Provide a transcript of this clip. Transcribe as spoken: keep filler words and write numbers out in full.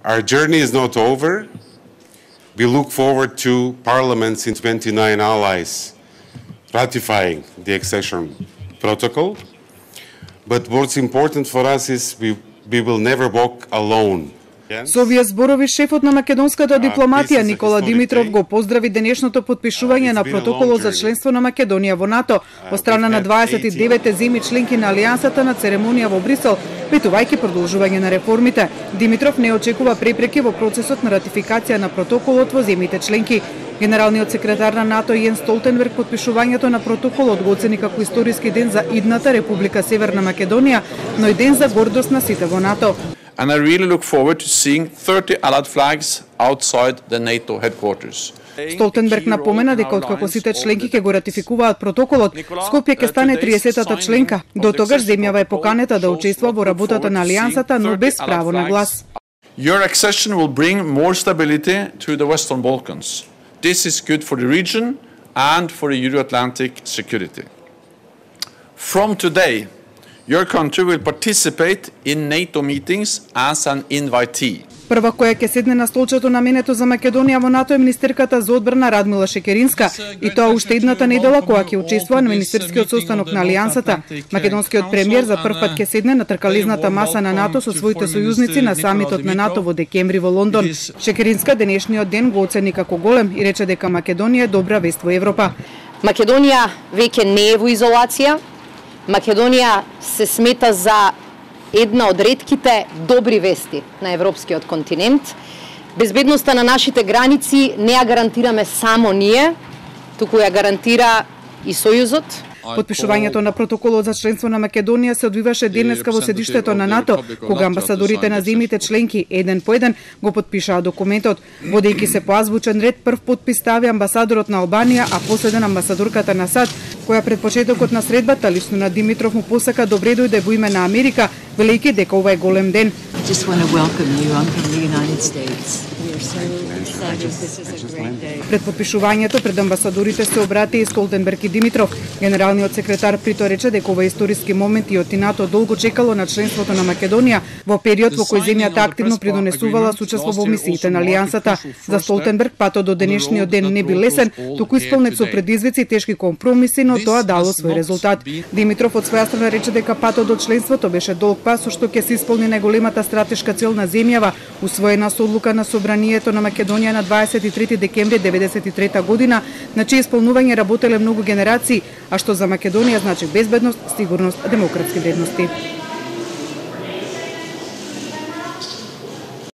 Our journey is not over. We look forward to Parliament's in twenty-nine allies ratifying the accession protocol. But what's important for us is we, we will never walk alone. Со овие зборови шефот на македонската дипломатија Никола Димитров го поздрави денешното потпишување на протоколот за членство на Македонија во НАТО од страна на дваесет и девет земји членки на Алијансата на церемонија во Брисел, ветувајќи продолжување на реформите. Димитров не очекува препреки во процесот на ратификација на протоколот во земјите членки. Генералниот секретар на НАТО Јенс Столтенберг потпишувањето на протоколот го оцени како историски ден за идната Република Северна Македонија, но и ден за гордост на сите во НАТО. And I really look forward to seeing thirty allied flags outside the NATO headquarters. Столтенберг напомена дека откако сите членки ќе го ратификуваат протоколот, Скопје ќе стане триесеттата членка. До тогаш земјава е поканета да учествува во работата на Алијансата, но без право на глас. Your accession will bring more stability to the Western Balkans. This is good for the region and for the Euro-Atlantic security. From today, your country will participate in NATO meetings as an invitee. Прва која ќе седне на столчето наменето за Македонија во НАТО е министерката за одбрана Радмила Шекеринска, и тоа уште идната недела кога ќе учествува на министерскиот состанок на Алијансата. Македонскиот премиер за прв пат ќе седне на тркализната маса на НАТО со своите сојузници на самитот на НАТО во декември во Лондон. Шекеринска денешниот ден го оцени како голем и рече дека Македонија е добра вест во Европа. Македонија веќе не е во изолација. Македонија се смета за една од ретките добри вести на европскиот континент. Безбедноста на нашите граници не ја гарантираме само ние, туку ја гарантира и Сојузот. Потпишувањето на протоколот за членство на Македонија се одвиваше денеска во седиштето на НАТО, кога амбасадорите на земјите членки еден по еден го потпишаа документот. Водејќи се по азбучен ред, прв подпис стави амбасадорот на Албанија, а последен амбасадорката на САД, која пред почетокот на средбата лично на Димитров му посака добре дојде во име на Америка, велејќи дека ова е голем ден. Пред подпишувањето пред амбасадорите се обрати и Столтенберг и Димитров. Генералниот секретар прито рече дека ова е историски момент и од НАТО долго чекало на членството на Македонија во период во кој земјата активно придонесувала сучество во мисиите на Алијансата. За Столтенберг патот до денешниот ден не би лесен, туку исполнет со предизвици и тешки компромиси, но тоа дало свој резултат. Димитров од своја страна рече дека патот до членството беше долг пат со што ќе се исполни најголемата стратешка цел на земјава, усвоена со одлука на Собранието на Македонија на дваесет и трети декември деветдесет и трета година, на чие исполнување работеле многу генерации, а што за Македонија значи безбедност, сигурност, демократски вредности.